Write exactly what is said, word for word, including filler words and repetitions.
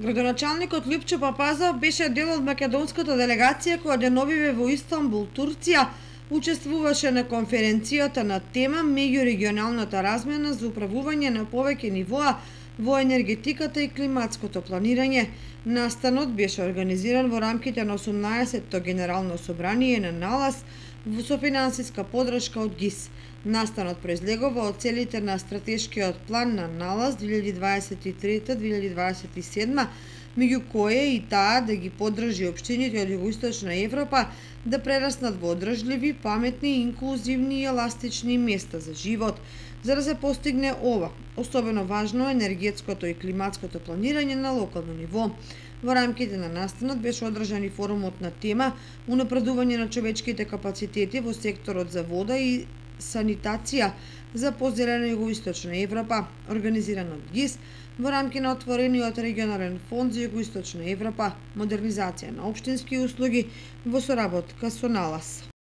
Градоначалникот Љупчо Папазов беше дел од македонската делегација која деновиве во Истанбул, Турција, учествуваше на конференцијата на тема меѓурегионалната размена за управување на повеќе нивоа во енергетиката и климатското планирање. Настанот беше организиран во рамките на осумнаесеттото генерално собрание на НАЛАС со финансиска подршка од ГИС. Настанот произлегува од целите на стратешкиот план на НАЛАС две илјади дваесет и трета до две илјади дваесет и седма, меѓу кои е и таа да ги поддржи општините од Југоисточна Европа да прераснат во одржливи, паметни, инклузивни и еластични места за живот. За да се постигне ова, особено важно е енергетското и климатското планирање на локално ниво. Во рамките на настанот беше одржан и форумот на тема унапредување на човечките капацитети во секторот за вода и санитација за позелена Југоисточна Европа, организиран од ГИС во рамки на отворениот регионален фонд за Југоисточна Европа, модернизација на општински услуги во соработка со НАЛАС.